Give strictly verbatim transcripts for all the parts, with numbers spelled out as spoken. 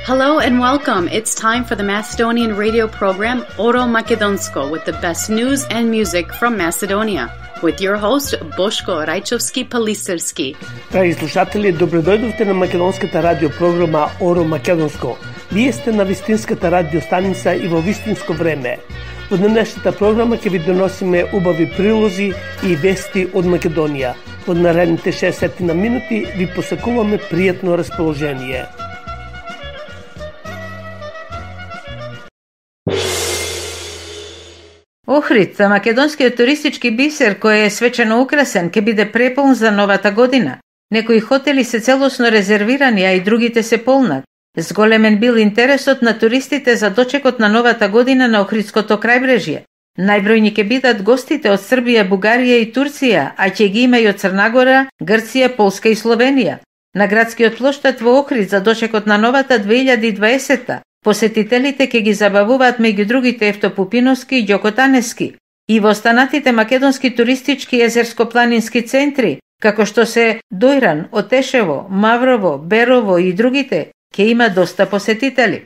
Hello and welcome. It's time for the Macedonian radio program Oro Makedonsko with the best news and music from Macedonia. With your host Boško Rajčovski-Palisarski. Драги слушатели, добредојдовте на македонската радио програма Оро Македонско. Вие сте на вистинската радио станица и во вистинско време. Во денешната програма ќе ви доносиме убави прилози и вести од Македонија. Во наредните шесет на минути ви посакуваме пријатно расположение. Охрид, македонскиот туристички бисер кој е свечено украсен, ќе биде преполн за новата година. Некои хотели се целосно резервирани, а и другите се полнат. Зголемен бил интересот на туристите за дочекот на новата година на Охридското крајбрежје. Најбројни ќе бидат гостите од Србија, Бугарија и Турција, а ќе ги има и од Црна Гора, Грција, Полска и Словенија. На градскиот плоштад во Охрид за дочекот на новата две илјади и дваесетта посетителите ќе ги забавуваат меѓу другите Евто Пупиновски и Ѓоко Таневски. И во останатите македонски туристички езерско-планински центри, како што се Дојран, Отешево, Маврово, Берово и другите, ќе има доста посетители.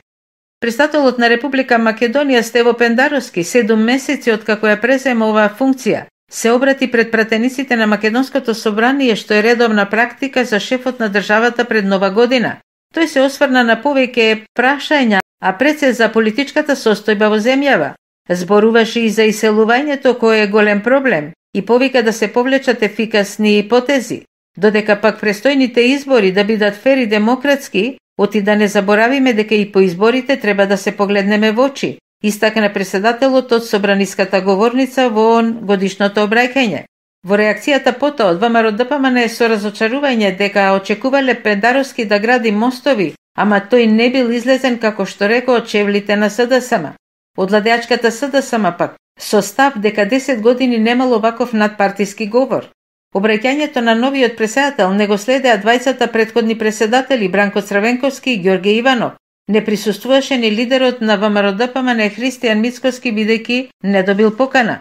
Председателот на Република Македонија Стево Пендаровски, седум месеци од како ја презема оваа функција, се обрати пред пратениците на Македонското собрание, што е редовна практика за шефот на државата пред нова година. Тој се осврна на повеќе прашања, а пред се за политичката состојба во земјава. Зборуваше и за иселувањето кој е голем проблем и повика да се повлечат ефикасни потези, додека пак престојните избори да бидат фер и демократски, оти да не заборавиме дека и по изборите треба да се погледнеме во очи, истакна председателот од собраниската говорница во годишното обраќање. Во реакцијата потоа од ВМРО Д П М Н со разочарување дека очекувале Пендаровски да гради мостови, ама тој не бил излезен како што рекол од чевлите на С Д С М. Од владеачката С Д С М пак, со став дека десет години немало ваков надпартиски говор. Обраќањето на новиот председател не го следеа двајцата претходни председатели Бранко Црвенковски и Ѓорѓе Иванов. Не присуствуваше ни лидерот на ВМРО Д П М Н Христијан Мицкоски бидејќи не добил покана.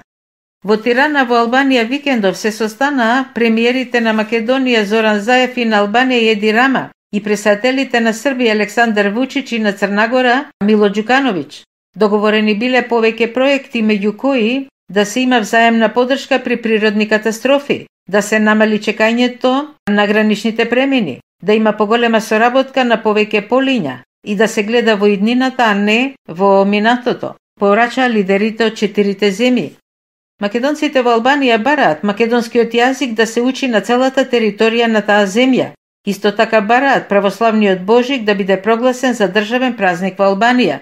Во Тирана во Албанија викендов се состанаа премиерите на Македонија Зоран Заев и на Албанија Еди Рама и председателите на Србија Александар Вучич и на Црна Гора Мило Ѓукановиќ. Договорени биле повеќе проекти, меѓу кои да се има взаемна поддршка при природни катастрофи, да се намали чекањето на граничните премини, да има поголема соработка на повеќе полиња и да се гледа во иднината, а не во минатото, порача лидерите од четирите земји. Македонците во Албанија бараат македонскиот јазик да се учи на целата територија на таа земја. Исто така бараат православниот Божик да биде прогласен за државен празник во Албанија.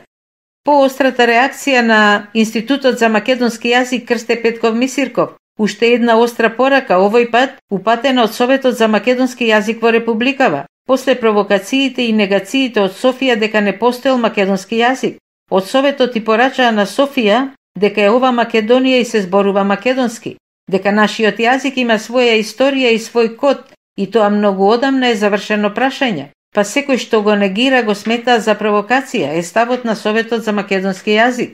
По острата реакција на Институтот за македонски јазик Крсте Петков Мисирков, уште една остра порака, овој пат упатена од Советот за македонски јазик во Републикава, после провокациите и негациите од Софија дека не постоел македонски јазик. Од Советот и порачаа на Софија дека е ова Македонија и се зборува македонски, дека нашиот јазик има своја историја и свој код, и тоа многу одамна е завршено прашање, па секој што го негира го смета за провокација, е ставот на Советот за македонски јазик.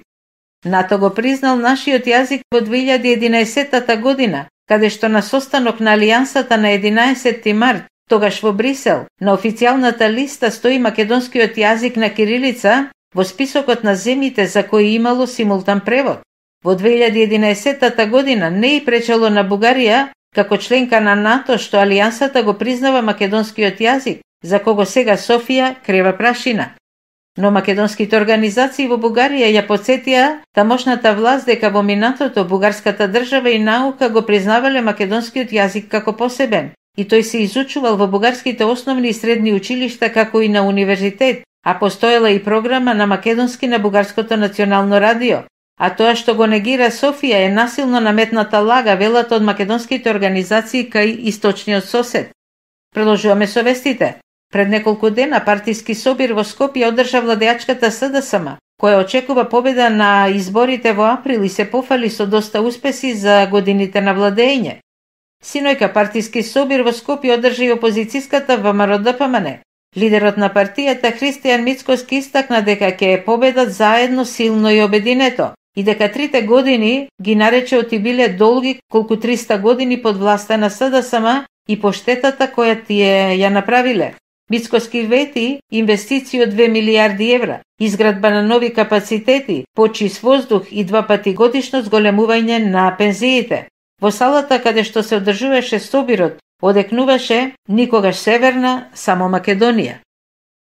НАТО го признал нашиот јазик во две илјади и единаесетта година, каде што на состанок на Алијансата на единаесетти март, тогаш во Брисел, на официјалната листа стои македонскиот јазик на кирилица во списокот на земјите за кои имало симултан превод. Во две илјади и единаесетта година не и пречело на Бугарија, како членка на НАТО, што Алијансата го признава македонскиот јазик, за кого сега Софија крева прашина. Но македонските организации во Бугарија ја потсетија тамошната власт дека во минатото бугарската држава и наука го признавале македонскиот јазик како посебен, и тој се изучувал во бугарските основни и средни училишта како и на универзитет, а постоела и програма на македонски на Бугарското национално радио. А тоа што го негира Софија е насилно наметната лага, велат од македонските организации кај источниот сосед. Продолжуваме со вестите. Пред неколку дена партиски собир во Скопје одржа владеачката С Д С М, која очекува победа на изборите во април и се пофали со доста успеси за годините на владење. Синојка партиски собир во Скопје одржа и опозицијската ВМРО Д П М Н. Лидерот на партијата Христијан Мицкоски истакна дека ќе победат заедно силно и обединето и дека трите години ги нарече оти биле долги колку триста години под власта на С Д С М и по штетата која тие ја направиле. Мицкоски вети инвестиции од две милиарди евра, изградба на нови капацитети, почист воздух и два пати годишно зголемување на пензиите. Во салата каде што се одржуваше собирот, одекнуваше никогаш Северна, само Македонија.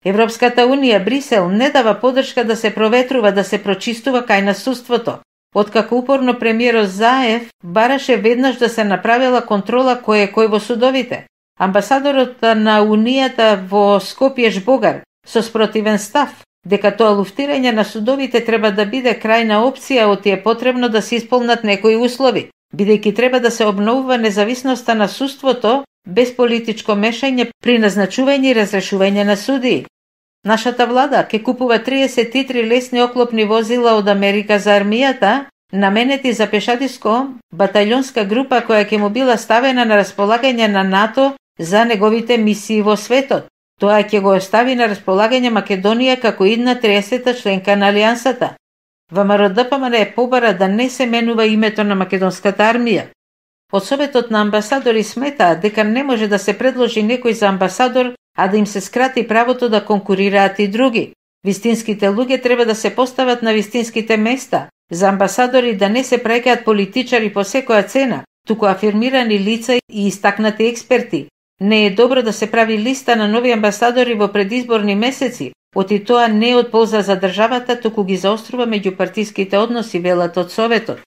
Европската Унија, Брисел, не дава поддршка да се проветрува, да се прочистува кај насуството. Откако упорно премиерот Заев бараше веднаш да се направила контрола кој е кој во судовите. Амбасадорот на Унијата во Скопје Жбогар со спротивен став, дека тоа луфтирање на судовите треба да биде крајна опција, оти е потребно да се исполнат некои услови, бидејќи треба да се обновува независноста на судството без политичко мешање при назначување и разрешување на судии. Нашата влада ќе купува триесет и три лесни оклопни возила од Америка за армијата, наменети за пешадиско батаљонска група која ќе му била ставена на располагање на НАТО за неговите мисии во светот. Тоа ќе го остави на располагање Македонија како идна триесета членка на Алијансата. ВМРО Д П М Н е побара да не се менува името на македонската армија. Од Советот на амбасадори сметаат дека не може да се предложи некој за амбасадор, а да им се скрати правото да конкурираат и други. Вистинските луѓе треба да се постават на вистинските места. За амбасадори да не се праќаат политичари по секоја цена, туку афирмирани лица и истакнати експерти. Не е добро да се прави листа на нови амбасадори во предизборни месеци, оти тоа не е од полза за државата, туку ги заострува меѓупартиските односи, велат од Советот.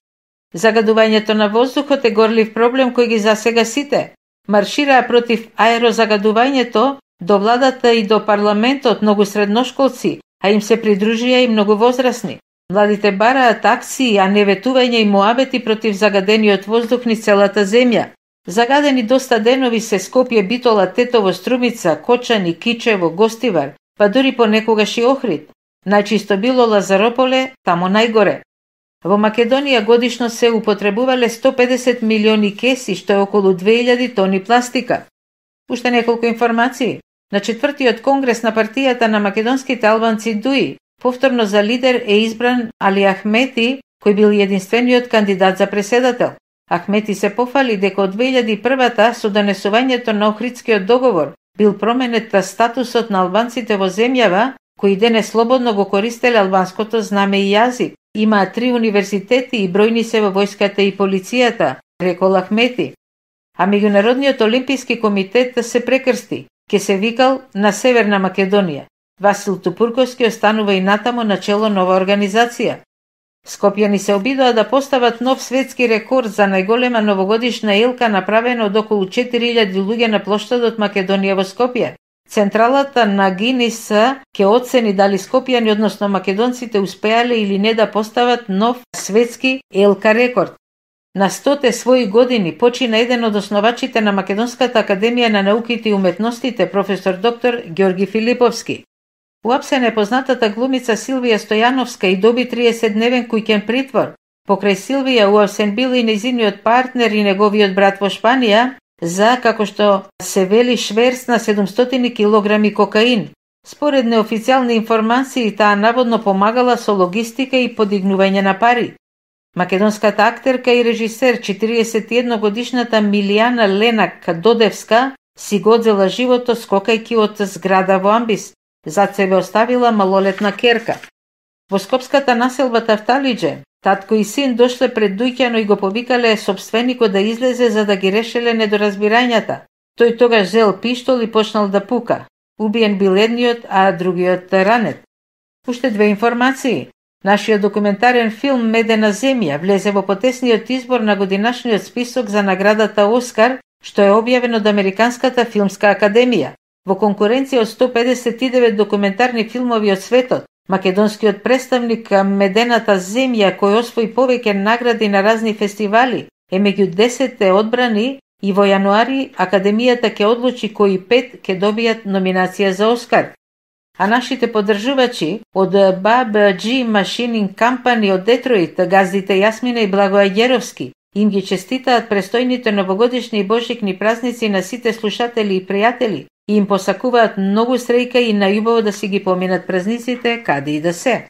Загадувањето на воздухот е горлив проблем кој ги засега сите. Маршираа против аерозагадувањето до владата и до парламентот многу средношколци, а им се придружија и многу возрасни. Младите бараат акции, а не ветување и моабети против загадениот воздух низ целата земја. Загадени доста денови се Скопје, Битола, Тетово, Струмица, Кочани, Кичево, Гостивар, па дури понекогаш и Охрид. Најчисто било Лазарополе, тамо најгоре. Во Македонија годишно се употребувале сто педесет милиони кеси, што е околу две илјади тони пластика. Уште неколку информации. На четвртиот конгрес на партијата на македонските албанци ДУИ, повторно за лидер е избран Али Ахмети, кој бил единствениот кандидат за преседател. Ахмети се пофали дека од две илјади и прва со донесувањето на Охридскиот договор бил променет статусот на албанците во земјава, кои денес слободно го користеле албанското знаме и јазик. Имаа три универзитети и бројни се во војската и полицијата, рекол Ахмети. А Меѓународниот олимписки комитет се прекрсти, ке се викал на Северна Македонија. Васил Тупурковски останува и натамо на чело нова организација. Скопјани се обидоа да постават нов светски рекорд за најголема новогодишна елка направена од околу четири илјади луѓе на плоштадот Македонија во Скопје. Централата на Гинис ќе оцени дали скопјани, односно македонците, успеале или не да постават нов светски елка рекорд. На стоте своји години почина еден од основачите на Македонската академија на науките и уметностите, професор доктор Ѓорги Филиповски. Уапсен е познатата глумица Силвија Стојановска и доби триесетдневен куќен притвор. Покрај Силвија уапсен бил и нејзиниот партнер и неговиот брат во Шпанија за, како што се вели, шверц на седумстотини килограми кокаин. Според неофицијални информации, таа наводно помагала со логистика и подигнување на пари. Македонската актерка и режисер четириесет и една годишната Милијана Ленак Додевска си го одзела животот скокајќи од зграда во Амбис. Зад себе оставила малолетна керка. Во скопската населба Тафталиџе, татко и син дошле пред дуќано и го повикале собственикот да излезе за да ги решеле недоразбирањата. Тој тогаш зел пиштол и почнал да пука. Убиен бил едниот, а другиот ранет. Уште две информации. Нашиот документарен филм Медена земја влезе во потесниот избор на годинашниот список за наградата Оскар, што е објавен од Американската филмска академија. Во конкуренција од сто педесет и девет документарни филмови од светот, македонскиот представник Медената земја, кој освои повеќе награди на разни фестивали, е меѓу десетте одбрани и во јануари Академијата ќе одлучи кои пет ќе добијат номинација за Оскар. А нашите поддржувачи од Б Б Џ Machining Company од Детройт, газдите Јасмина и Благоја Ѓеровски, им ги честитаат престојните новогодишни и божикни празници на сите слушатели и пријатели и им посакуваат многу среќа и најубаво да си ги поминат празниците каде и да се.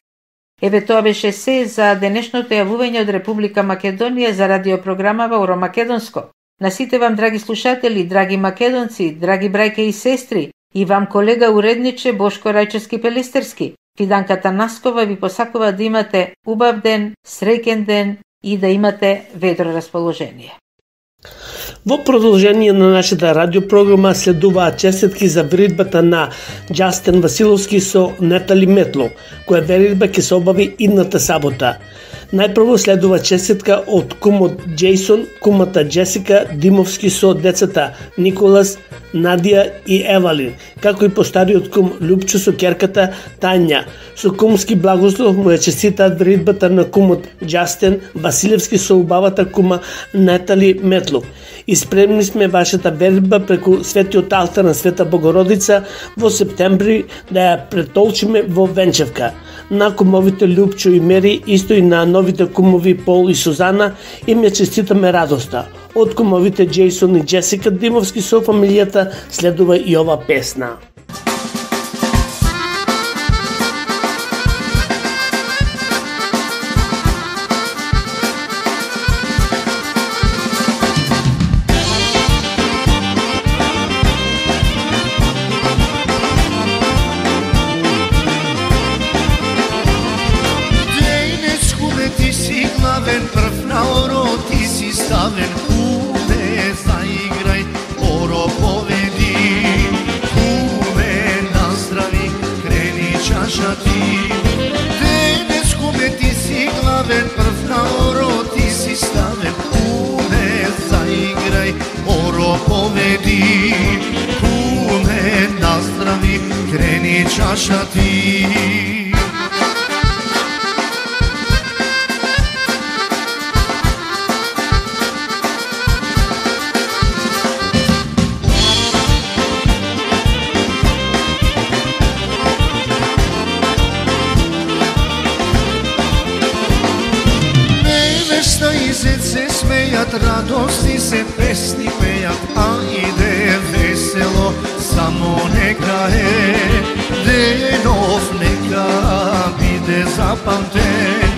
Еве тоа беше се за денешното јавување од Република Македонија за радиопрограмава Оро Македонско. На сите вам, драги слушатели, драги македонци, драги брајке и сестри, И вам, колега уредниче Бошко Рајчовски-Пелистерски, Фиданка Танаскова ви посакува да имате убав ден, среќен ден и да имате ведро расположение. Во продолжение на нашата радиопрограма следуваат честитки за веридбата на Џастин Василовски со Натали Метло, која веридба ќе се обави идната сабота. Најпрво следува честитка од кумот Джейсон, кумата Джесика Димовски со децата Николас, Надија и Евалин, како и постариот кум Лупчо со ќерката Тања. Со кумски благослов му ја честитаат веридбата на кумот Џастин Василевски со убавата кума Натали Метло. И спремни сме вашата веридба преку светиот алтар на Света Богородица во септември да ја претолчиме во Венчевка. На кумовите Лупчо и Мери, исто и на новите кумови Пол и Сузана, им ја честитаме радоста. Од кумовите Джейсон и Джесика Димовски со фамилијата следува и ова песна. Čaša ti. Невеста и зет се смејат, радости се песни пејат, а иде весело, само нека е. Денов нека биде запамтен.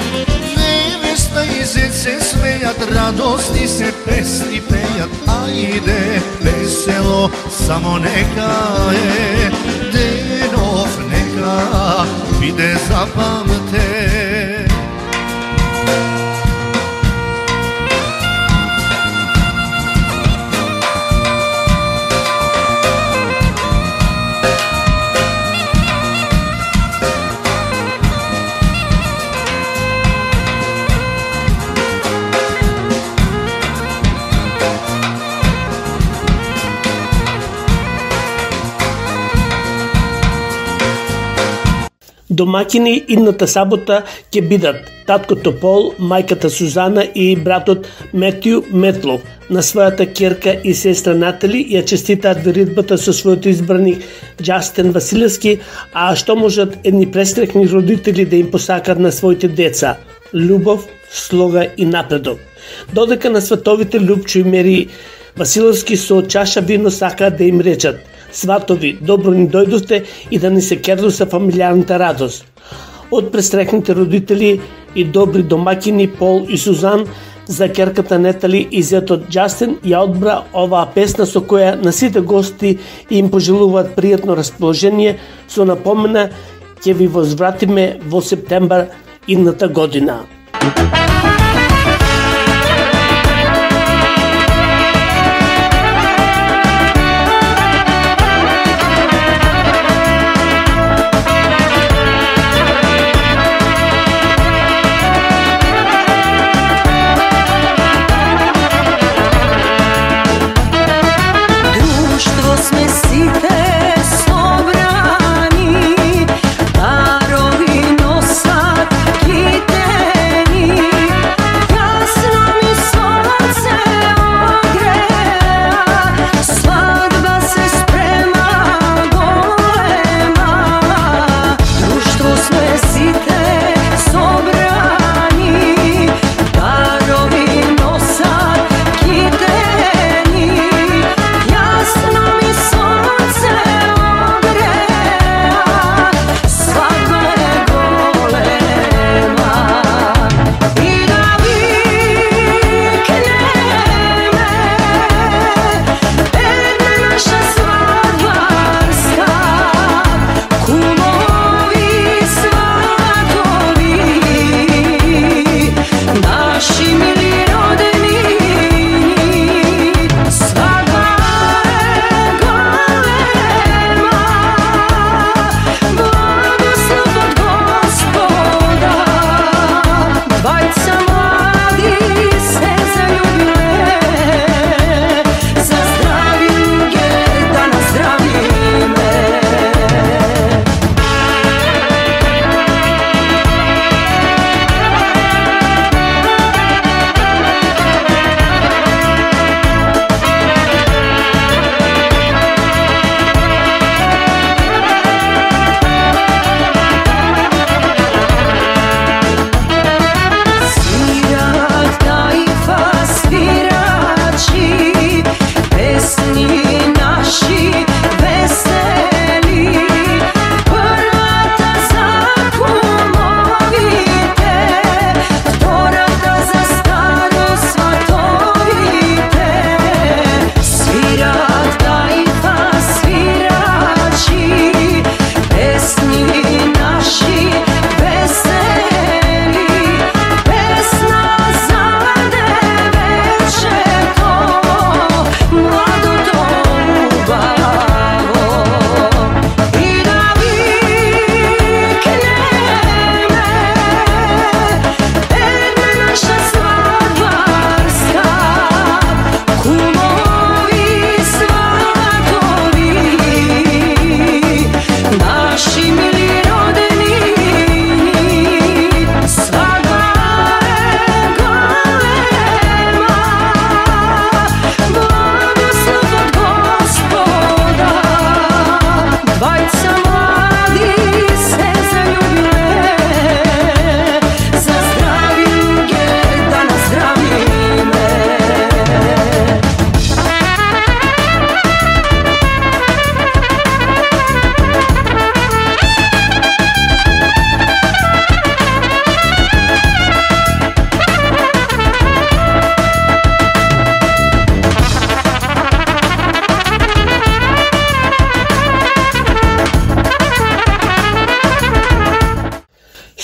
Невеста и зет се смејат, радости се песни пејат, а иде весело, само нека е. Денов нека биде запамтен. Домакини идната сабота ќе бидат таткото Пол, мајката Сузана и братот Метју Метлов. На својата ќерка и сестра Натали ја честитаат веридбата со својот избраник Џастин Василевски, а што можат едни престрекни родители да им посакат на своите деца? Љубов, слога и напредок. Додека на сватовите Лупчо и Мери Василевски со чаша вино сакаат да им речат: сватови, добро ни дојдовте и да ни се керду со фамилијарната радост. Од престрекните родители и добри домакини Пол и Сузан, за ќерката Натали и зетот Џастин ја одбра оваа песна со која на сите гости им пожелуваат пријатно расположение, со напомена ќе ви возвратиме во септембар идната година. Darovi nosat kiteni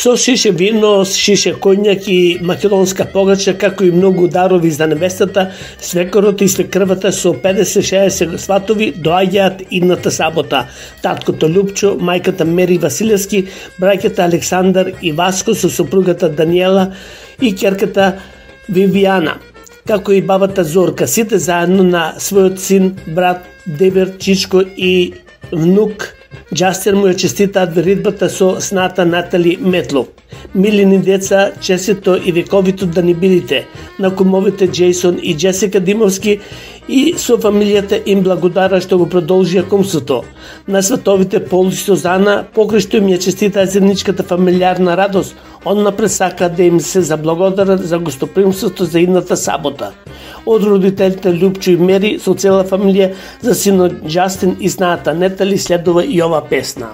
со шише вино, шише конјак и македонска погача, како и многу дарови за невестата, свекорот и свекрвата со педесет-шеесет сватови доаѓаат идната сабота. Таткото Лупчо, мајката Мери Василевски, браќата Александар и Васко со сопругата Даниела и ќерката Вивијана, како и бабата Зорка, сите заедно на својот син, брат Дебер, чичко и внук Джастин му ја честитаат веридбата со сната Натали Метлов. Милини деца, честито и вековито да ни бидите, на кумовите Джейсон и Джесика Димовски и со фамилијата им благодара што го продолжија кумството. На световите Пол и Сузана, покрај што им ја честитаат заедничката фамилиарна радост, он напред сака да им се заблагодарат за гостопримството за идната сабота. Од родителите Лупчо и Мери со цела фамилија за синот Джастин и сната Нетали следува и ова песна.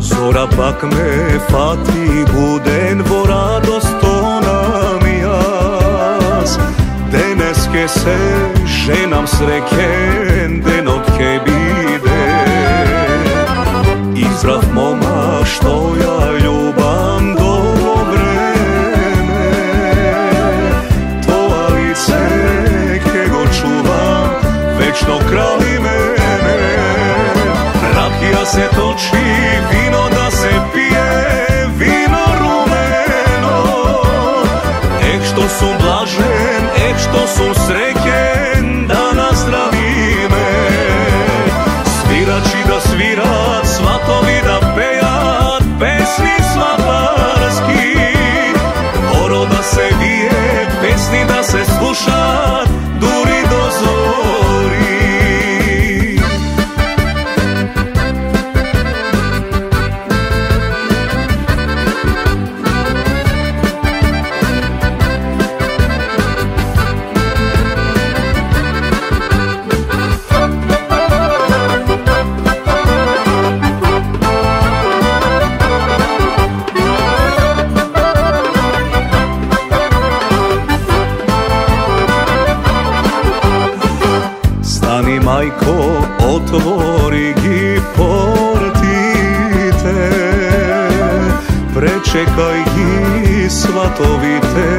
Зора пак ме фати буден во радостонам јас. Денес ке се женам среќен, денот ке биде. Избрав мома што ја љубам до време. Тоа лице ке го чувам вечно крај мене. Ракија се точи, вино да се пие, вино румено. Ех што сум блажен, ех што сум среќен, да наздравиме. Свирачи да свират, сватови да пеат, песни сватарски. Оро да се вие, песни да се слушат, дури до зори. Мајко, отвори ги портите, пречекај ги сватовите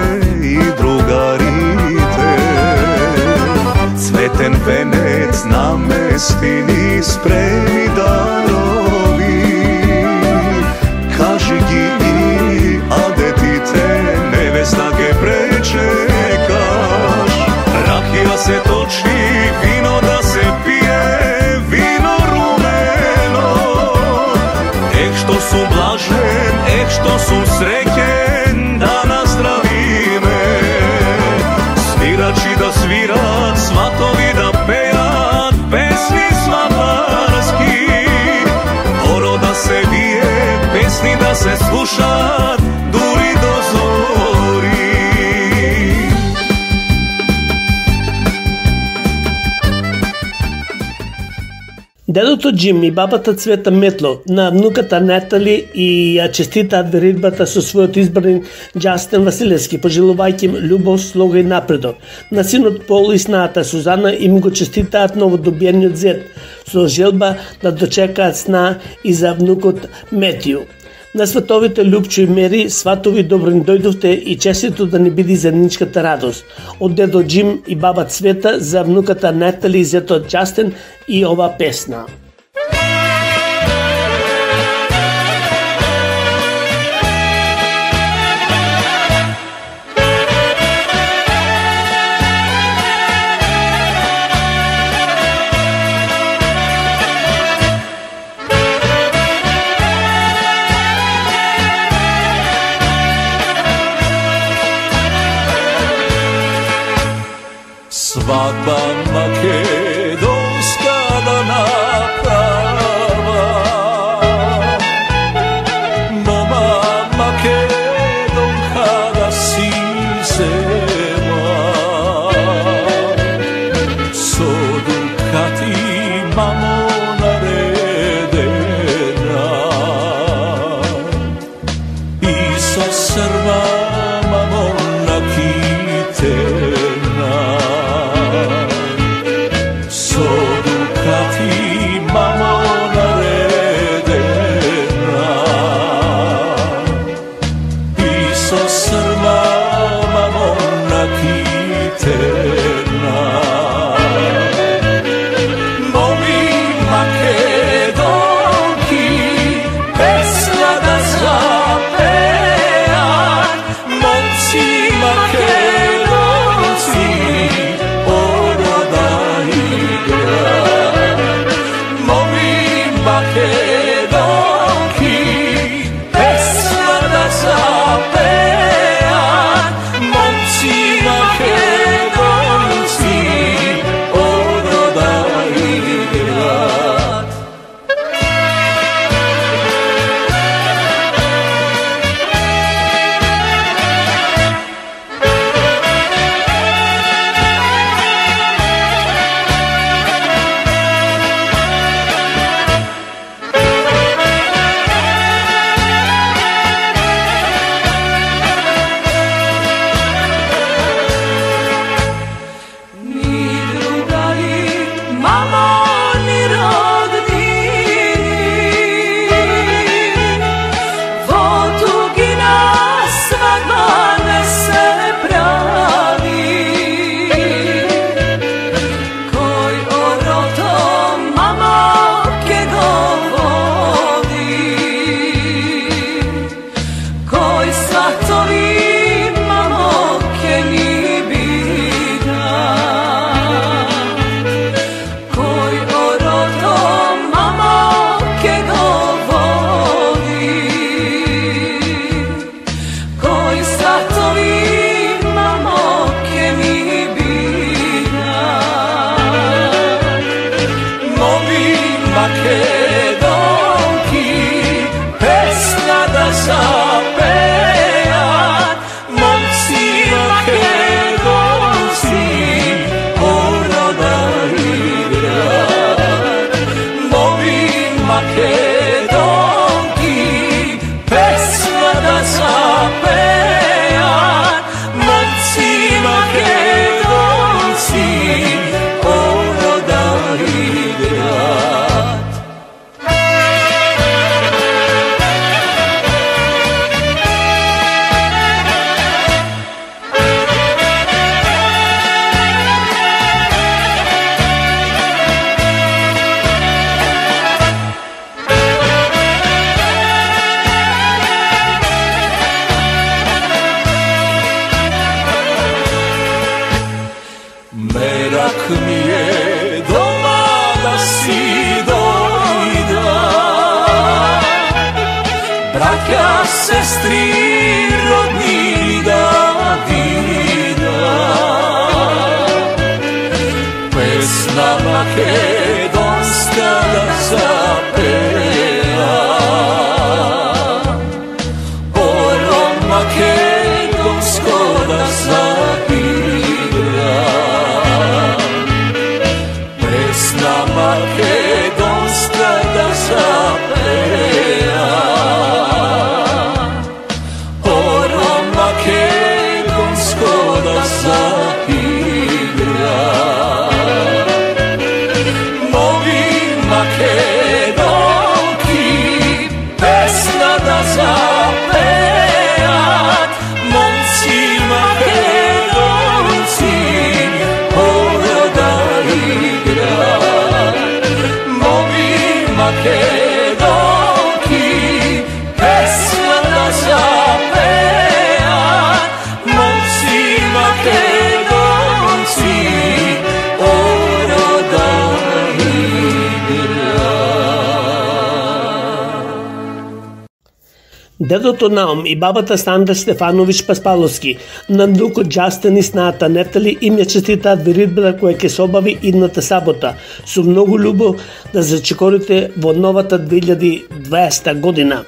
и другарите. Цветен венец намести ни спреми дарови, кажи ги и адетите, невеста ке пречекаш. Ракија се точи, вино да се пие, вино румено. Ех што сум блажен, ех што сум среќен, да наздравиме. Свирачи да свират, сватови да пеат, песни сватарски. Оро да се вие, песни да се слушат, дури до зори. Дедото Джим и бабата Цвета Метло на внуката Натали и ја честитаат веридбата со својот избран Джастин Василевски, пожелувајќи им љубов, слога и напредок. На синот Пол и сната Сузана им го честитаат новодобиениот зет, со желба да дочекаат сна и за внукот Метију. На световите Лупчо и Мери, сватови добро ни дојдовте и честито да ни биде заедничката радост. Од дедо Джим и баба Цвета за внуката Натали и зетот Джастин и ова песна. Свадба македонска да Македонки, песна да запеат момци македонци од рода и град. Sestri rodni da vida, pesna makedonska da zapeva, oro makedonsko da zaigra, pesna makedonska da zapeva. Дедото Наум и бабата Сандра Стефановиќ Паспаловски на внукот Џастин и снаата Нетали им ја честитаат веридбата која ќе се обави идната сабота со многу љубов да зачекорите во новата две илјади и дваесета година.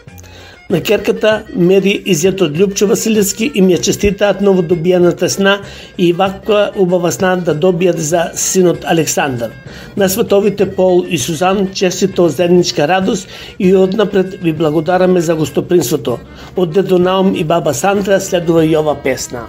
На керката Мери и зетот Љупчо Василевски им ја честитаат новодобијаната сна и ваква убава сна да добијат за синот Александар. На световите Пол и Сузан честито заедничка радост и однапред ви благодараме за гостопринството. Од дедо Наум и баба Сандра следува и ова песна.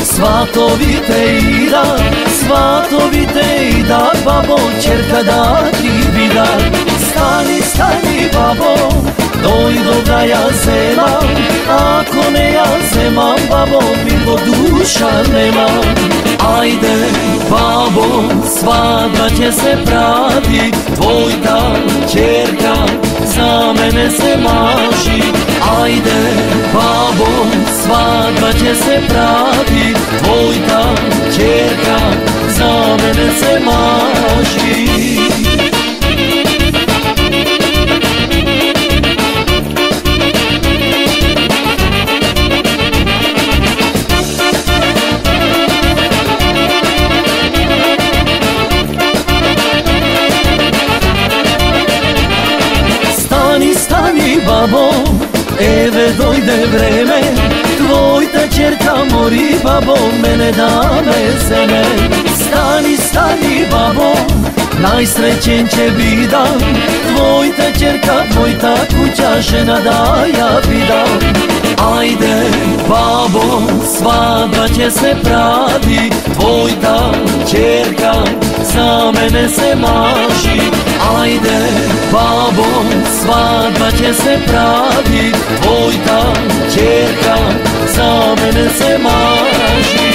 Сватовите идат, сватовите идат, бабо, черка да ти видат. Стани, стани, ја земам, ако не ја земам, бабо, ми во душа немам. Ајде, бабо, свадба ќе се прави, твојта ќерка за мене се мажи. Ајде, бабо, свадба ќе се прави, твојта ќерка за мене се мажи. Бабо, еве дојде време, твојта ќерка мори, бабо, мене да ме земе. Стани, стани, бабо, најсреќен ќе бидам, твојта ќерка, твојта куќа жена да ја видам. Ајде, бабо, свадба ќе се прави, твојта ќерка за мене се мажи. Ајде, бабо, свадба ќе се прави, твојта ќерка за мене се мажи.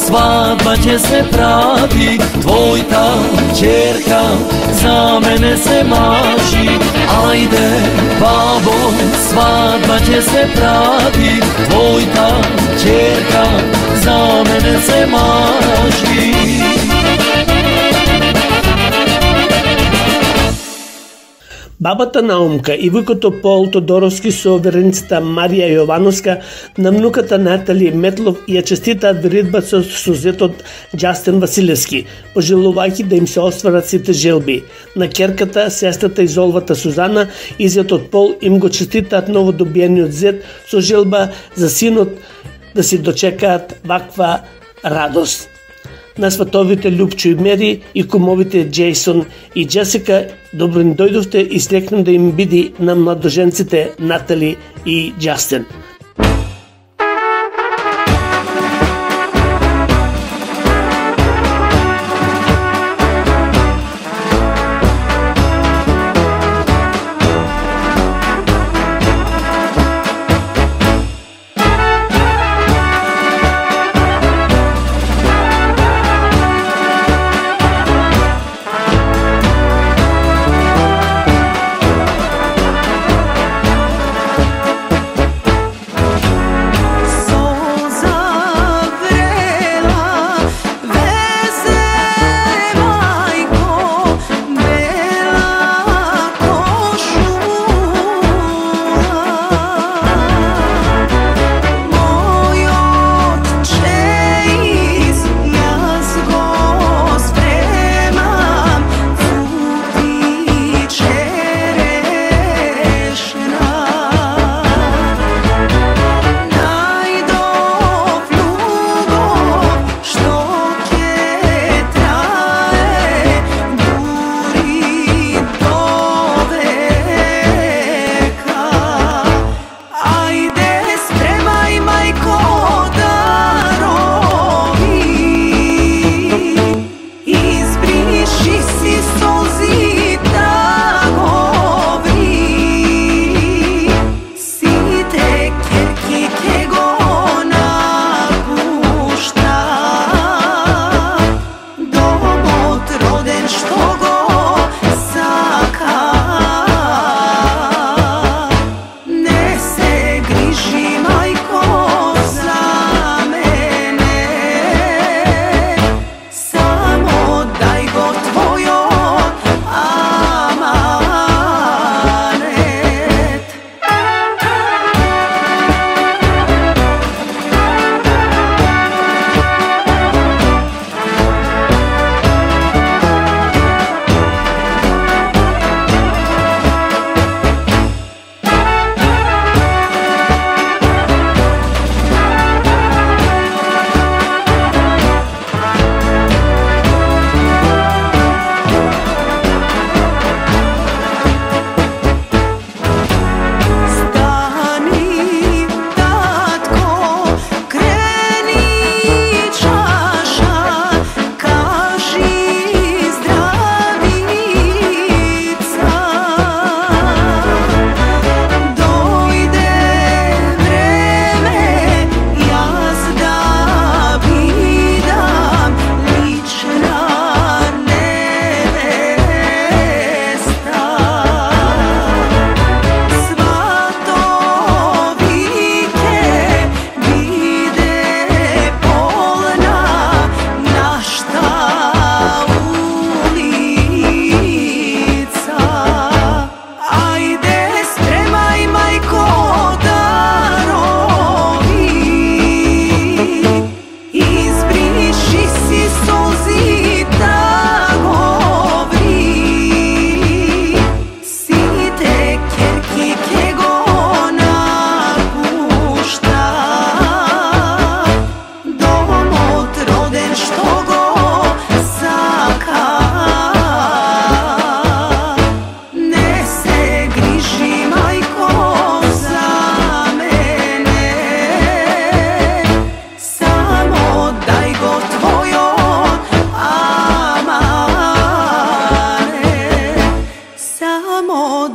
Свадба ќе се прави, твојта ќерка за мене се мажи. Ајде, бабо, свадба ќе се прави, твојта ќерка за мене се мажи. Бабата Наумка и вујкото Пол Тодоровски со вереницата Марија Јовановска на внуката Натали Метлов ја честитаат веридба со сузетот Џастин Василевски, пожелувајќи да им се остварат сите желби. На ќерката, сестрата и золвата Сузана и зетот Пол им го честитаат новодобиениот зет со желба за синот да си дочекаат ваква радост. На сватовите Лупчо и Мери и кумовите Джейсон и Джесика, добро ни дојдовте и слекнем да им биди на младоженците Натали и Џастин.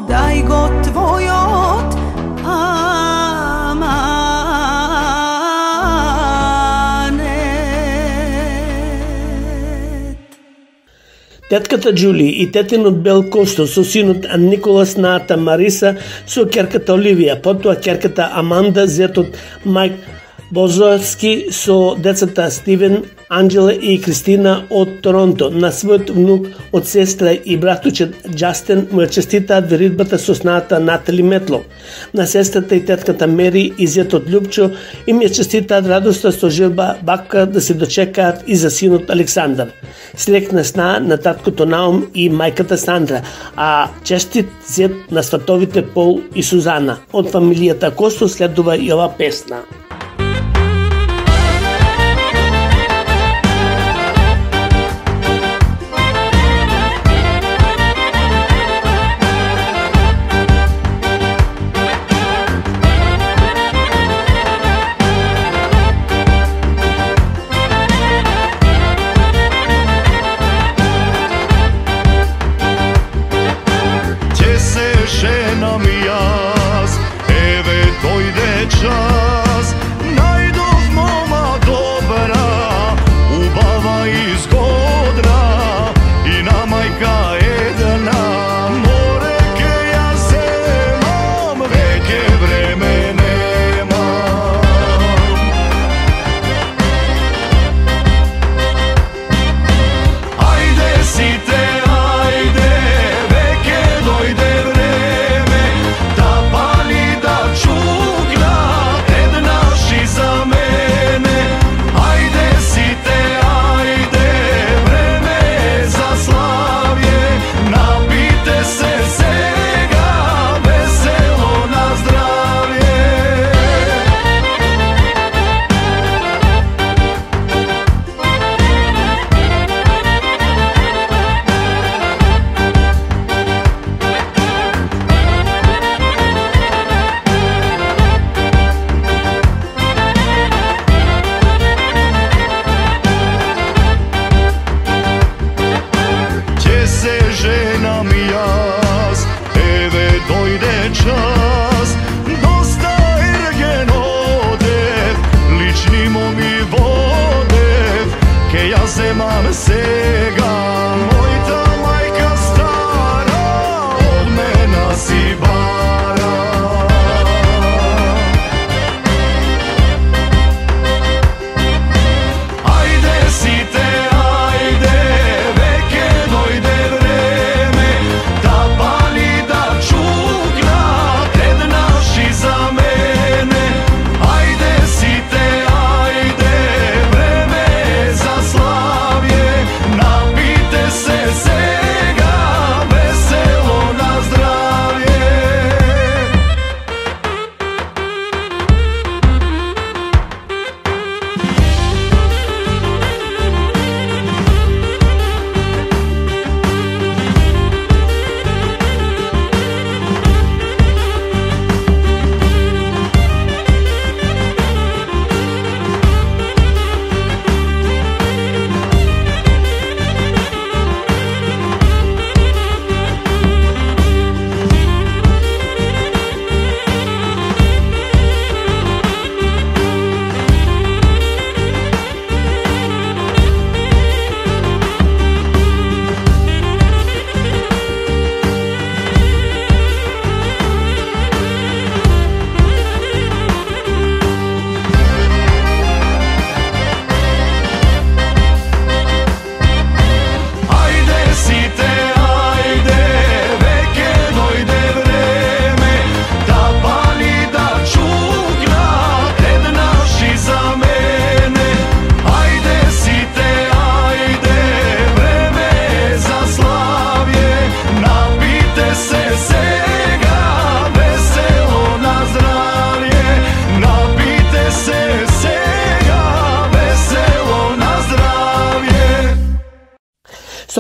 дај го твојот Тетката Џули и тетинот Бел Косто со синот Николас наата Мариса, со ќерката Оливија, потоа ќерката Аманда, зетот Мајк Бозовски со децата Стивен, Анджела и Кристина од Торонто. На својот внук од сестра и братучет Џастин му ја честитаат веридбата со снаата Натали Метло. На сестрата и тетката Мери и зетот Љупчо им ја честитаат радоста со желба бакка да се дочекаат и за синот Александар. Среќна сна на таткото Наум и мајката Сандра, а честит зет на сватовите Пол и Сузана. Од фамилијата Косто следува и ова песна.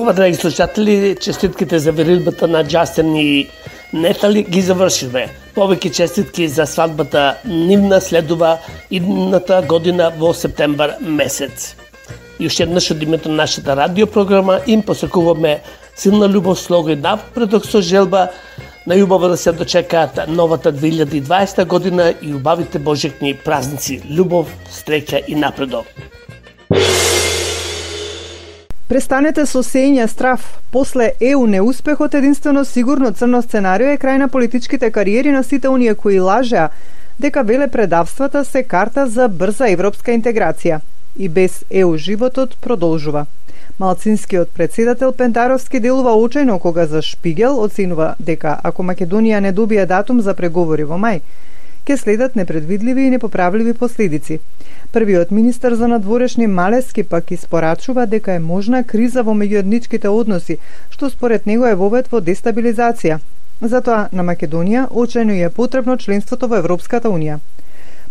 Ова, драги слушатели, честитките за веридбата на Џастин и Натали ги завршивме. Повеќе честитки за свадбата нивна следува идната година во септембар месец. И уште еднаш од името на нашата радиопрограма им посакуваме силна љубов, слога и напредок со желба Најубаво да се дочекаат новата две илјади и дваесета година и убавите божекни празници, љубов, среќа и напредок. Престанете со сење страф. После Е У неуспехот, единствено сигурно црно сценарио е крај на политичките кариери на сите оние кои лажеа дека велепредавствата се карта за брза европска интеграција. И без Е У животот продолжува. Малцинскиот председател Пентаровски делува очајно кога за Шпигел оценува дека ако Македонија не добие датум за преговори во мај, ќе следат непредвидливи и непоправливи последици. Првиот министер за надворешни Малески пак испорачува дека е можна криза во меѓуетничките односи, што според него е вовед во дестабилизација. Затоа на Македонија очајно е потребно членството во Европската унија.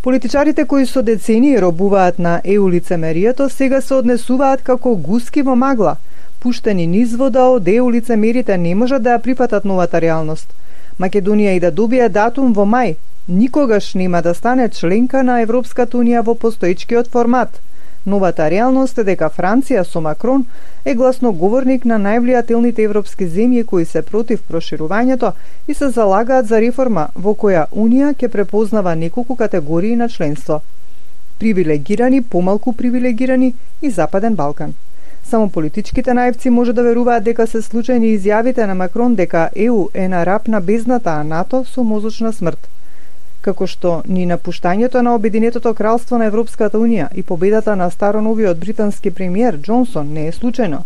Политичарите кои со децении робуваат на Е У лицемерието сега се однесуваат како гуски во магла. Пуштени низ вода од Е У лицемерите не можат да ја прифатат новата реалност. Македонија и да добие датум во мај, никогаш нема да стане членка на Европската унија во постоечкиот формат. Новата реалност е дека Франција со Макрон е гласноговорник на највлијателните европски земји кои се против проширувањето и се залагаат за реформа во која Унија ќе препознава неколку категории на членство. Привилегирани, помалку привилегирани и Западен Балкан. Само политичките наивци може да веруваат дека се случајни изјавите на Макрон дека Е У е на рап на бездната, а НАТО со мозочна смрт. Како што ни напуштањето на Обединетото кралство на Европската унија и победата на староновиот британски премиер Џонсон не е случајно,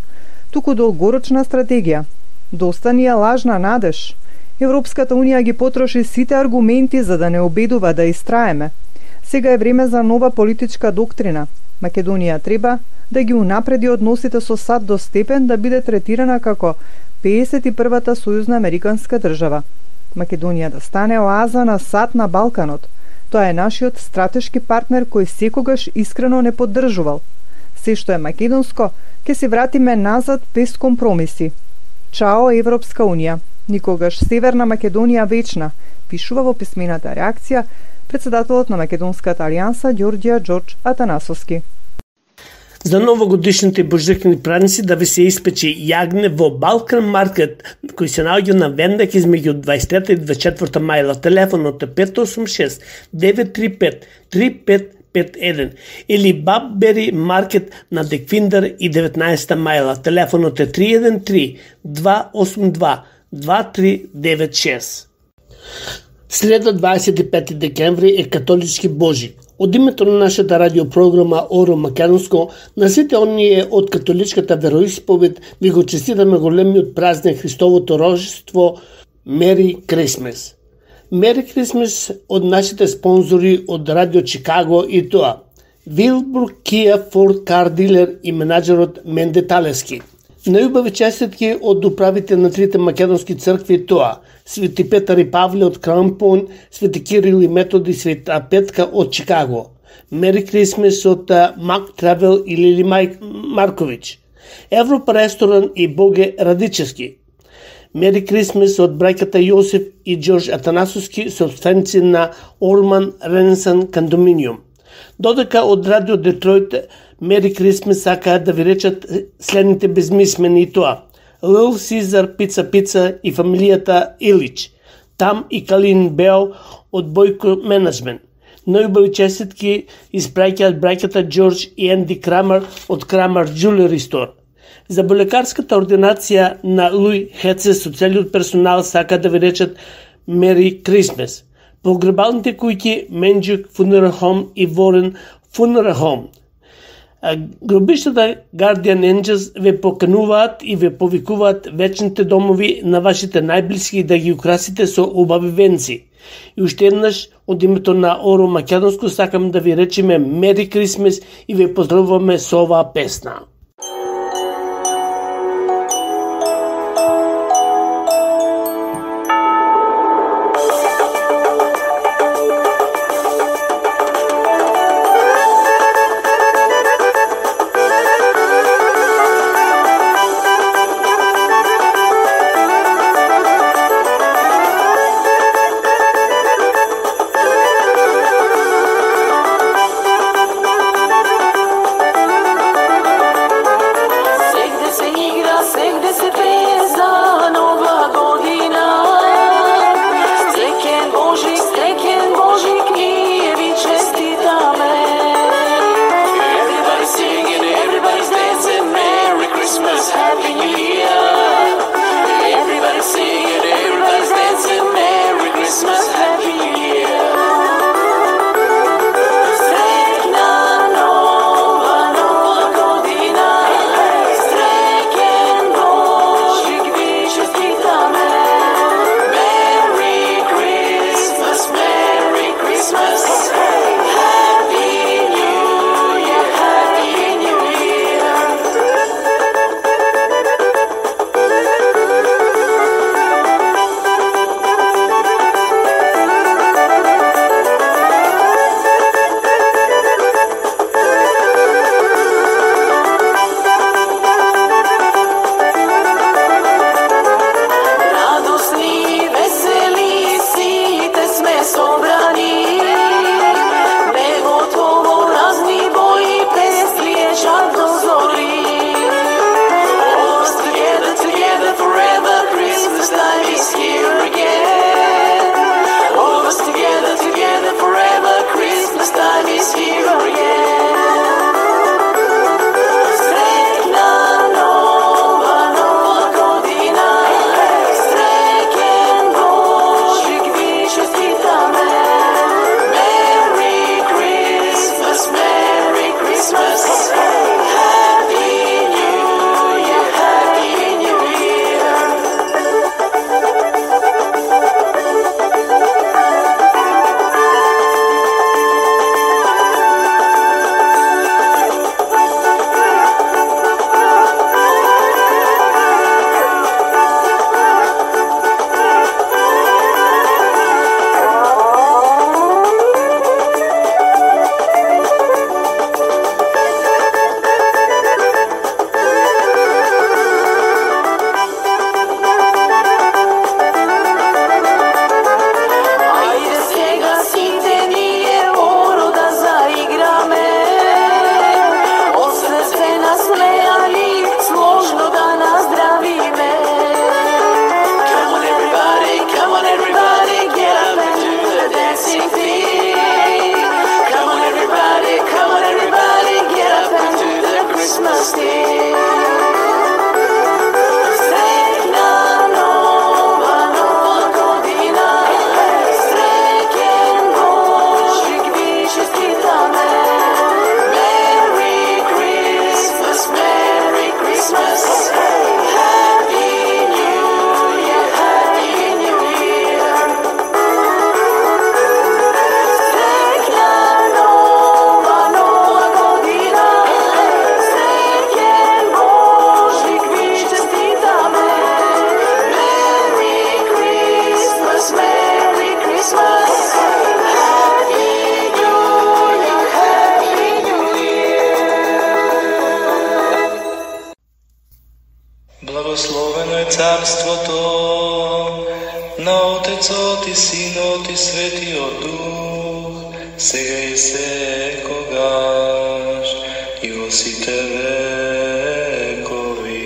туку долгорочна стратегија. Доста ни е лажна надеж. Европската унија ги потроши сите аргументи за да не обедува да истраеме. Сега е време за нова политичка доктрина. Македонија треба да ги унапреди односите со САД до степен да биде третирана како педесет и првата сојузна американска држава. Македонија да стане оаза на САД на Балканот. Тоа е нашиот стратешки партнер кој секогаш искрено не поддржувал. Се што е македонско, ќе се вратиме назад без компромиси. Чао Европска унија. Никогаш Северна Македонија вечна, пишува во писмената реакција председателот на Македонската алијанса Ѓорѓија Џорџ Атанасовски. За новогодишните бождекни празници да ви се испече јагне во Балкан Маркет, кој се наоѓа на Вендак измеѓу дваесет трета и дваесет четврта мајла. Телефонот е пет осум шест девет три пет три пет пет еден или Баббери Маркет на Деквиндар и деветнаесетта мајла. Телефонот е три еден три два осум два два три девет шест. Среда дваесет и пети декември е католички Божик. Од името на нашата радиопрограма Оро Македонско, на сите оние од католичката вероисповед ви го честитаме големиот празник Христовото рождество, Мери Крисмес. Мери Крисмес од нашите спонзори од Радио Чикаго и тоа Вилбур Кија Форд Кар Дилер и менаџерот Менде Талески. Најубави честитки од управите на трите македонски цркви тоа Свети Петар и Павле од Крампон, Свети Кирил и Методи, Света Петка од Чикаго. Мери Крисмес од Мак Тревел и Лили Майк Маркович. Европа ресторан и Боге Радичевски. Мери Крисмес од браќата Јосиф и Џорџ Атанасовски, собственици на Орман Ренесан Кондоминиум. Додека од Радио Детройт Мери Крисмес сакаат да ви речат следните безмислени и тоа Лил Сизар Пица Пица и фамилијата Илич. Там и Калин Бео од Бојко Менеджмент. Најубави честитки испраќаат браќата Џорџ и Енди Крамер од Крамер Джулери Стор. За болекарската ординација на Луи Хеце со целиот персонал сака да ви речат Мери Крисмес. Погребалните куќи Менџук Funeral Home и Ворен Funeral Home. Гробиштата Guardian Angels ве покануваат и ве повикуваат вечните домови на вашите најблиски да ги украсите со убави венци. И уште еднаш од името на Оро Македонско сакам да ви речеме Мери Крисмес и ве поздравуваме со оваа песна. царството на Отецот и Синот и Светиот Дух, сега и секогаш и во сите векови.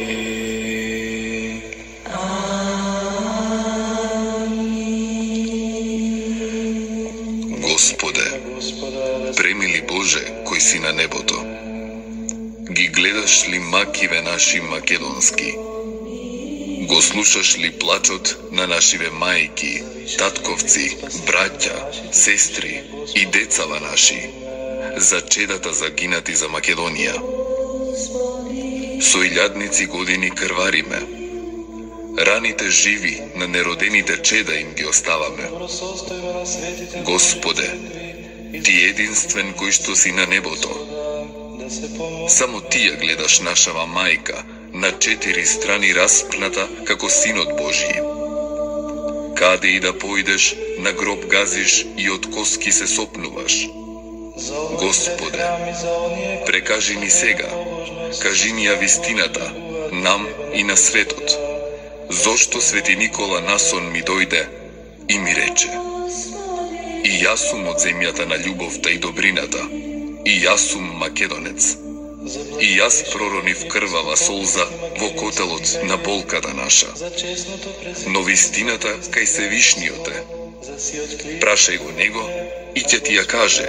Господе, премили Боже, кој си на небото, ги гледаш ли макиве наши македонски? Го слушаш ли плачот на нашиве мајки, татковци, браќа, сестри и децава наши, за чедата загинати за Македонија? Со илјадници години крвариме, раните живи на неродените чеда им ги оставаме. Господе, Ти единствен кој што си на небото, само Ти ја гледаш нашава мајка, на четири страни распната како Синот Божи. Каде и да појдеш, на гроб газиш и од коски се сопнуваш. Господе, прекажи ни сега, кажи ни ја вистината, нам и на светот. Зошто Свети Никола насон ми дојде и ми рече: и јас сум од земјата на љубовта и добрината, и јас сум македонец. И јас проронив крвава солза во котелот на болката наша. Но вистината кај Севишниот е. Прашај го него и ќе ти ја каже,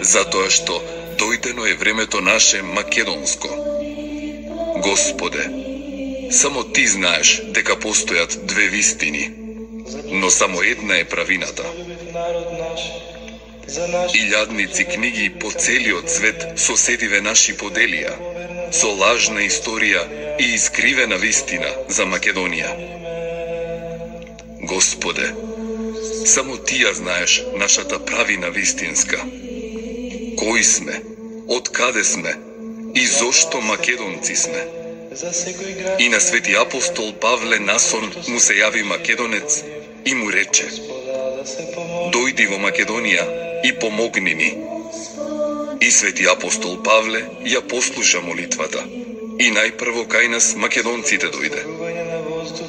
затоа што дојдено е времето наше македонско. Господе, само Ти знаеш дека постојат две вистини, но само една е правината. Илјадници книги по целиот свет соседиве наши поделија, со лажна историја и искривена вистина за Македонија. Господе, само Ти ја знаеш нашата правина вистинска. Кои сме, од каде сме и зошто македонци сме. И на Свети апостол Павле насон му се јави македонец и му рече: дојди во Македонија и помогни ни. И Свети апостол Павле ја послуша молитвата и најпрво кај нас македонците дојде.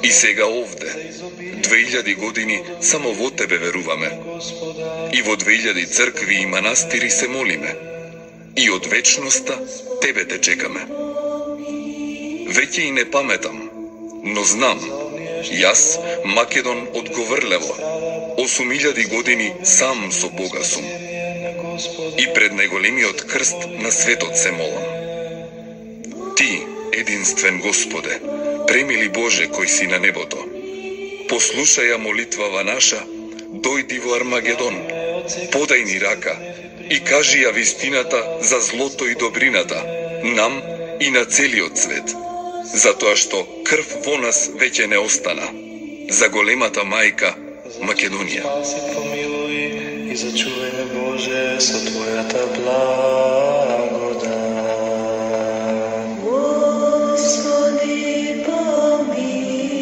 И сега овде, две илјади години, само во Тебе веруваме. И во две илјади цркви и манастири се молиме. И од вечноста Тебе те чекаме. Веќе и не паметам, но знам, јас, Македон од Говрлево, осум илјади години сам со Бога сум. И пред најголемиот крст на светот се молам. Ти, единствен Господе, премили Боже кој си на небото, послушај ја молитвава наша, дојди во Армагедон, подај ни рака и кажи ја вистината за злото и добрината, нам и на целиот свет, затоа што крв во нас веќе не остана, за големата мајка Македонија. И зачувај ме, Боже, со Твојата благодат. Господи, помилуј.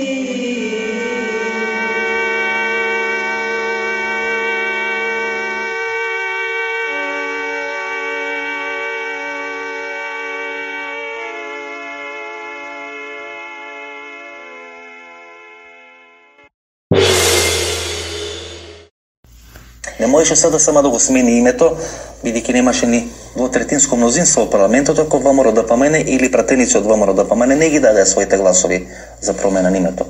Не можеше sada сама да го смени името, бидејќи немаше ни двотретинско мнозинство во парламентот, ако ВМРО ДПМН или пратеници од ВМРО ДПМН не ги даде своите гласови за промена на името.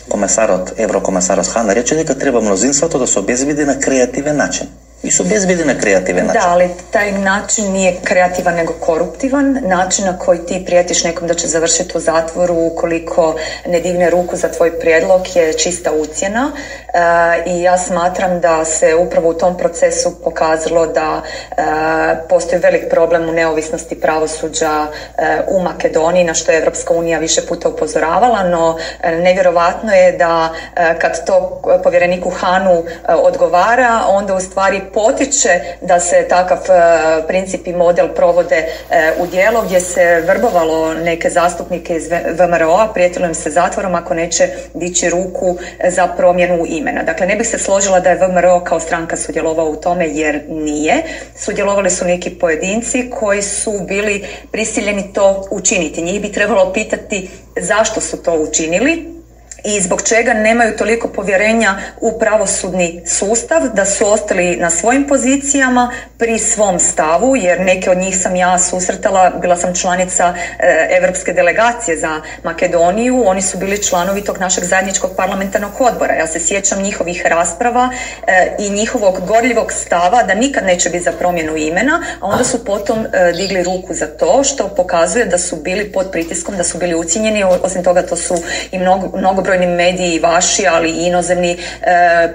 Комесарот, еврокомесарот Хан рече дека треба мнозинството да се обезбеди на креативен начин. И се обезбеди на креативен начин. Да, ali taj način nije kreativan nego koruptivan. Način na koji ti prijetiš nekom da će završiti u zatvoru ukoliko ne digne ruku za tvoj prijedlog je čista ucjena. E, I ja smatram da se upravo u tom procesu pokazalo da e, postoji velik problem u neovisnosti pravosuđa e, u Makedoniji, na što je Evropska unija više puta upozoravala, no e, nevjerovatno je da e, kad to povjereniku Hanu e, odgovara, onda u stvari potiče da se takav princip i model provode u djelo, gdje se vrbovalo neke zastupnike iz V M R O-a, prijetilo im se zatvorom ako neće dići ruku za promjenu imena. Dakle, ne bih se složila da je V M R O kao stranka sudjelovao u tome, jer nije. Sudjelovali su neki pojedinci koji su bili prisiljeni to učiniti. Njih bi trebalo pitati zašto su to učinili i zbog čega nemaju toliko povjerenja u pravosudni sustav, da su ostali na svojim pozicijama pri svom stavu, jer neke od njih sam ja susretala, bila sam članica e, Evropske delegacije za Makedoniju, oni su bili članovi tog našeg zajedničkog parlamentarnog odbora. Ja se sjećam njihovih rasprava e, i njihovog gorljivog stava da nikad neće biti za promjenu imena, a onda su potom e, digli ruku za to, što pokazuje da su bili pod pritiskom, da su bili ucijenjeni. Osim toga, to su i mnogo, mnogo mediji vaši, ali i inozemni e, e,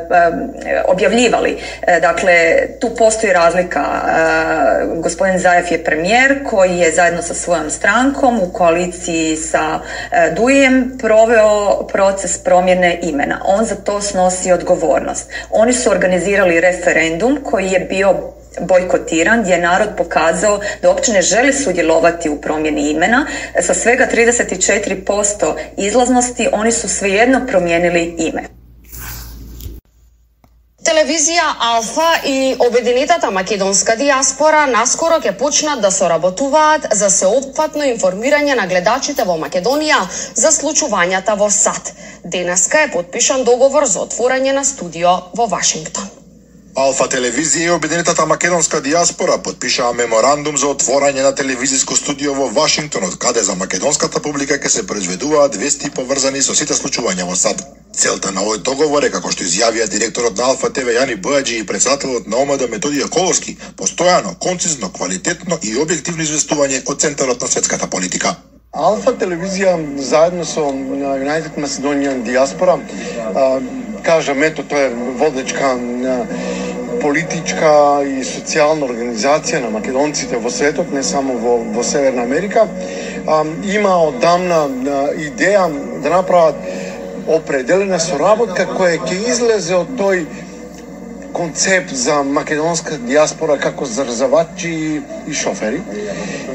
objavljivali. E, dakle, tu postoji razlika. E, gospodin Zajev je premijer koji je zajedno sa svojom strankom u koaliciji sa e, Dujijem proveo proces promjene imena. On za to snosi odgovornost. Oni su organizirali referendum koji je bio bojkotiran, gdje je narod pokazao da uopće ne želi sudjelovati u promjeni imena. Sa svega trideset četiri posto izlaznosti oni su svejedno promijenili ime. Телевизија Алфа и обединетата македонска диаспора наскоро ќе почнат да соработуваат за сеопфатно информирање на гледачите во Македонија за случувањата во САД. Денеска е потпишан договор за отворање на студио во Вашингтон. Алфа телевизија и обединетата македонска диаспора потпишаа меморандум за отворање на телевизиско студио во Вашингтон, од каде за македонската публика ќе се произведуваат вести поврзани со сите случувања во САД. Целта на овој договор е, како што изјавија директорот на Алфа ТВ Јани Бојаджи и председателот на ОМД Методија Коловски, постојано, концизно, квалитетно и објективно известување од центарот на светската политика. Алфа телевизија заедно со United Macedonian Diaspora, кажам, ето, тоа е водечка политичка и социјална организација на македонците во светот, не само во, во Северна Америка. А, има одамна идеја да направат определена соработка која ќе излезе од тој концепт за македонска диаспора како зарзавачи и шофери.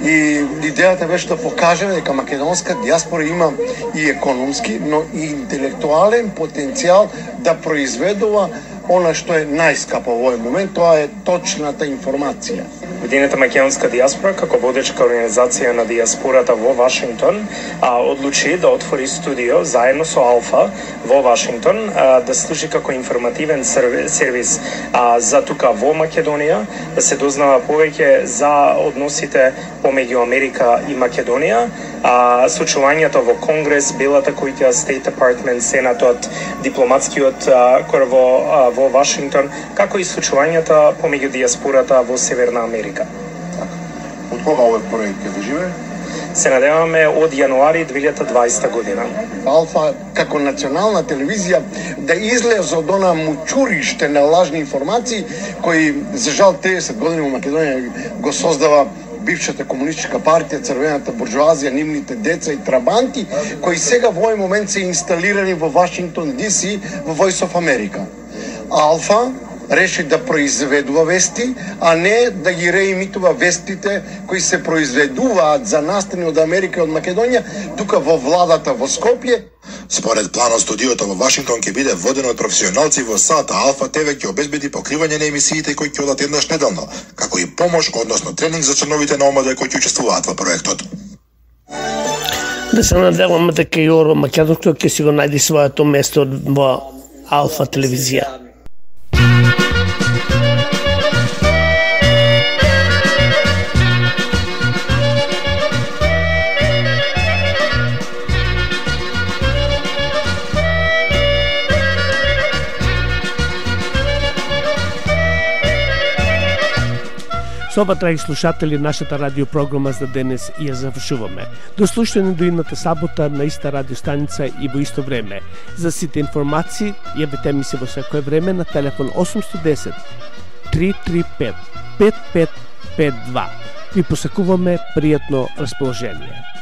И идејата беше да покажеме дека македонска диаспора има и економски, но и интелектуален потенцијал да произведува она што е најскапо во овој момент, тоа е точната информација. Обединета македонска диаспора, како водечка организација на диаспората во Вашингтон, а, одлучи да отвори студио заедно со Алфа во Вашингтон, а, да служи како информативен сервис а, за тука во Македонија, да се дознава повеќе за односите помеѓу Америка и Македонија, а, случувањето во Конгрес, Белата куќа, State Department, Сенатот, дипломатскиот а, кор во, а, во Вашингтон, како и случувањата помеѓу диаспората во Северна Америка. Од кога овој проект ќе заживее? Се надеваме од јануари две илјади и дваесета година. Алфа како национална телевизија да излезе од она мучуриште на лажни информации кои за жал триесет години во Македонија го создава бившата комунистичка партија, црвената буржуазија, нивните деца и трабанти, кои сега во овој момент се инсталирани во Вашингтон Ди Си, во Voice of America. Алфа реши да произведува вести, а не да ги реимитува вестите кои се произведуваат за настани од Америка и од Македонија, тука во владата во Скопје. Според планот, студиото во Вашингтон ќе биде водено од професионалци во САД, а Алфа ТВ ќе обезбеди покривање на емисиите кои ќе одат еднаш неделно, како и помош, односно тренинг за членовите на ОМД кои ќе учествуваат во проектот. Да се надеваме дека и Оро Македонско ќе си го најде своето место во Алфа телевизија. Со ова, драги слушатели, нашата радиопрограма за денес ја завршуваме. До слушање до идната сабота на иста радиостаница и во исто време. За сите информации, јавете ми се во секое време на телефон осум едно едесет три три пет пет пет пет два. Ви посакуваме пријатно расположение.